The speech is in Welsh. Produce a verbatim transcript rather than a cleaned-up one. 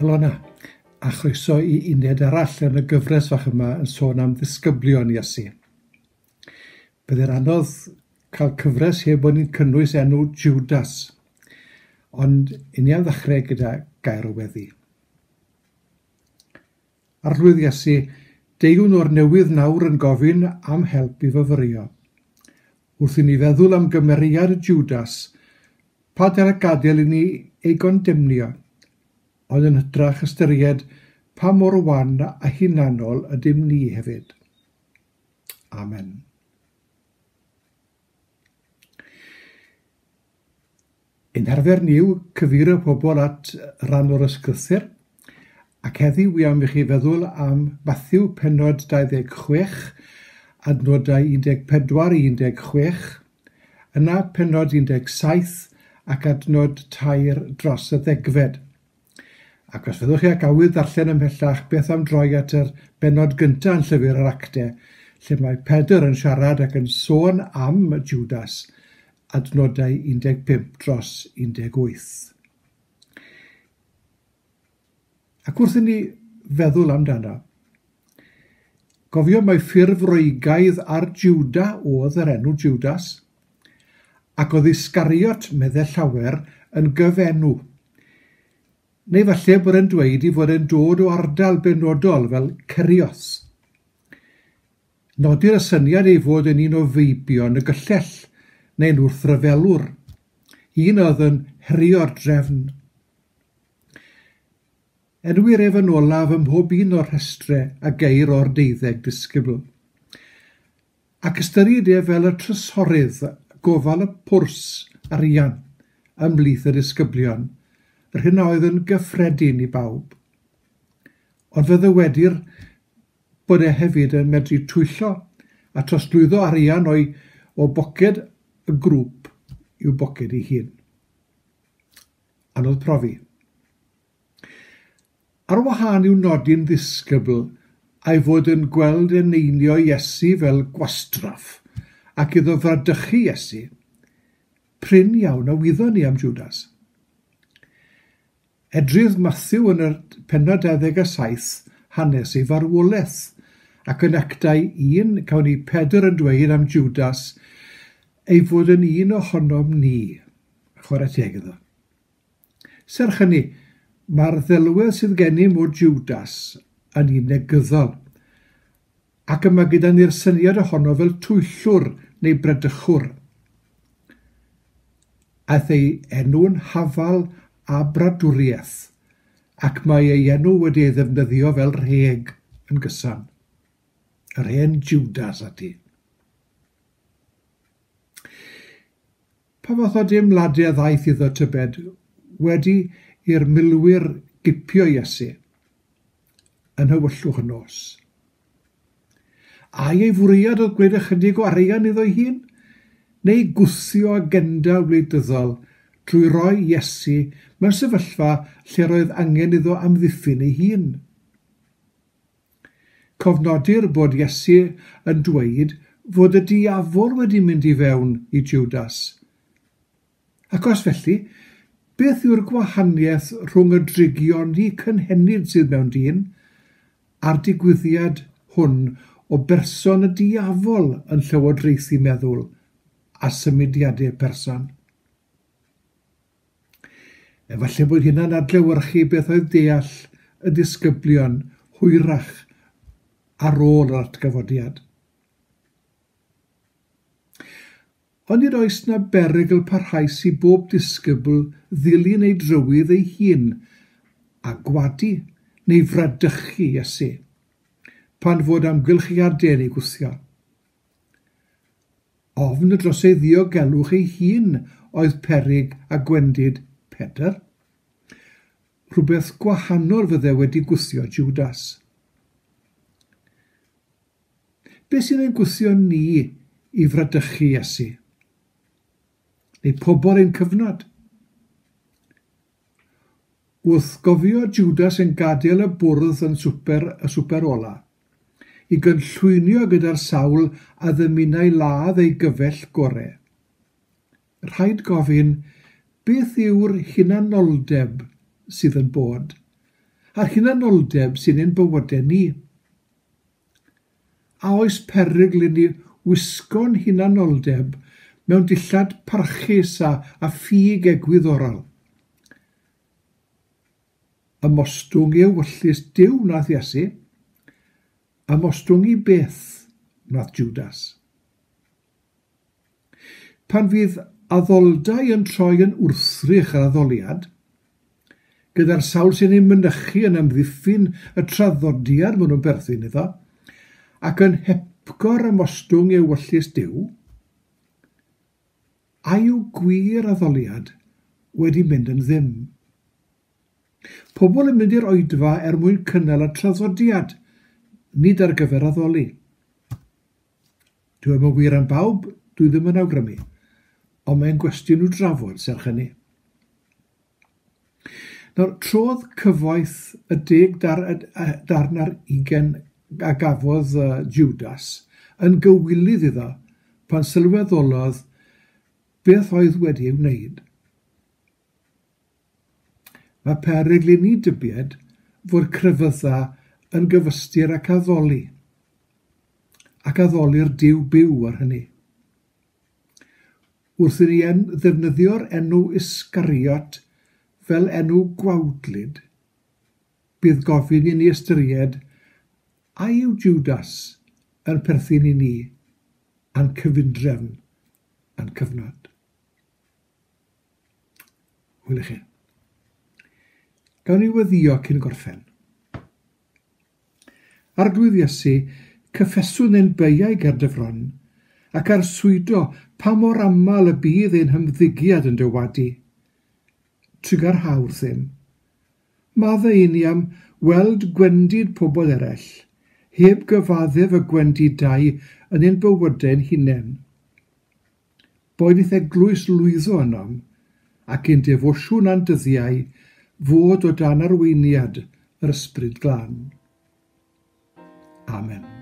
Helo 'na, a chroeso i uned arall yn y gyfres fach yma yn sôn am ddisgyblion Iesu. Byddai'n anodd cael cyfres heb bod ni'n cynnwys enw Judas, ond i ni am ddechrau gyda gair o weddi. Arglwydd Iesu, deuwn o'r newydd nawr yn gofyn am help i fyfyrio. Wrth i ni feddwl am gymeriad Judas, pa dal gadael i ni ei gondemnio, ond yn hytrach ystyried pa mor wan a hunanol ydym ni hefyd. Amen. Ein harfer ni yw cyfeirio pobl at ran o'r ysgrythur, ac heddiw wi am i chi feddwl am Mathew pennod dau ddeg chwech, adnodau un deg pedwar i un deg chwech, yna pennod un deg saith ac adnod tair dros y ddegfed. Ac os fyddwch chi ac awydd darllen ymhellach, beth am droi at yr bennod gyntaf yn llyfr yr Actau, lle mae Pedr yn siarad ac yn sôn am Judas, adnodau un deg pump dros un deg wyth. Ac wrth i ni feddwl amdano, gofio mai ffurf Roegaidd ar Juda oedd yr enw Judas, ac oedd Iscariot, meddai llawer, yn gyfenw. Neu falle bod e'n dweud ei fod e'n dod o ardal benodol fel Cerios. Nodir y syniad ei fod yn un o feibion y gyllell, neu'n wrthryfelwr, un oedd yn herio'r drefn. Enwir ef yn olaf ym mhob un o'r rhestrau a geir o'r deuddeg disgybl. Ac ystyried ef fel y trysorydd gofal y pwrs arian ymhlith y disgyblion, yr hyn oedd yn gyffredin i bawb. Ond fe ddywedir bod e hefyd yn medru twyllo a trosglwyddo arian o'i, o boced y grŵp i'w boced ei hun. Anodd profi. Ar wahân i'w nodi'n ddisgybl a'i fod yn gweld eneinio Iesu fel gwastraff ac iddo fradychu Iesu, prin iawn a wyddon ni am Judas. Edrydd Mathew yn y pennod dau ddeg a saith hanes ei farwolaeth, ac yn Actau un cawn ni Pedr yn dweud am Judas ei fod yn un ohonom ni. Chwarae teg iddo. Serch hynny, mae'r ddelwedd sydd gennym o Judas yn un negyddol, ac yma gyda ni'r syniad ohono fel twyllwr neu bradychwr. Aeth ei enw'n hafal a bradwriaeth, ac mae ei enw wedi ei ddefnyddio fel rheg yn gyson. Yr hen Judas ati. Pa fath o deimladau ddaeth iddo tybed wedi i'r milwyr gipio Iesu yn hywyllwch y nos? Ai ei fwriad oedd gwneud ychydig o arian iddo'i hun, neu gwthio agenda wleidyddol trwy roi Iesu mewn sefyllfa lle roedd angen iddo amddiffyn ei hun? Cofnodir bod Iesu yn dweud fod y diafol wedi mynd i fewn i Judas. Ac os felly, beth yw'r gwahaniaeth rhwng y drygioni cynhenid sydd mewn dyn a'r digwyddiad hwn o berson y diafol yn llywodraethu meddwl a symudiadau person? Efallai bod hynna'n adlewyrchu beth oedd deall y disgyblion hwyrach ar ôl yr atgyfodiad. Ond nid oes na berygl parhaus i bob disgybl ddilyn ei drywydd ei hun a gwadu neu fradychu Iesu, pan fod amgylchiadau yn ei gwthio. Ofn dros ei ddiogelwch ei hun oedd peryg a gwendid Pedr. Rhywbeth gwahanol fydde wedi gwthio Judas. Beth sy'n ein gwthio ni i fradychu Iesu? Neu pobl ein cyfnod? Wrth gofio Judas yn gadael y bwrdd yn swper, y swper ola, i gynllwynio gyda'r sawl a ddymunai ladd ei gyfell gorau, rhaid gofyn beth yw'r hunanoldeb sydd yn bod, a'r hunanoldeb sy'n ein bywydau ni. A oes perygl i ni wisgo'n hunanoldeb mewn dillad parchus a, a ffug egwyddorol? Ymostwng i ewyllys Duw wnaeth Iesu, ymostwng i beth wnaeth Judas. Pan fydd addoldai yn troi yn wrthrych yr addoliad, gyda'r sawl sy'n ei mynychu yn amddiffyn y traddodiad maen nhw'n perthyn iddo, ac yn hepgor ymostwng ewyllys Duw, a yw gwir addoliad wedi mynd yn ddim? Pobl yn mynd i'r oedfa er mwyn cynnal y traddodiad, nid ar gyfer addoli. Dwi ddim yn wir am bawb, dwi ddim yn awgrymu, ond mae'n gwestiwn i'w drafod serch hynny. Nawr, trodd cyfoeth y deg dar, darn ar ugain a gafodd Judas yn gywilydd iddo pan sylweddolodd beth oedd wedi ei wneud. Mae perygl i ni dybied fod crefydda yn gyfystyr ac addoli, ac addoli'r Duw byw ar hynny. Wrth i ni en, ddefnyddio'r enw Iscariot fel enw gwawdlyd, bydd gofyn i ni ystyried a yw Judas yn perthyn i ni a'n cyfundrefn a'n cyfnod. Hwyl i chi. Gawn ni weddïo cyn gorffen. Arglwydd Iesu, cyffeswn ein beiau ger dy fron, ac arswydo pa mor aml y bydd ein hymddygiad yn dywadu. Trugarha wrthym. Maddau i ni am weld gwendid pobl eraill, heb gyfaddef y gwendidau yn ein bywydau'n hunain. Boed i'th eglwys lwyddo ynom, ac ein defosiwn a'n dyddiau fod o dan arweiniad yr Ysbryd Glân. Amen.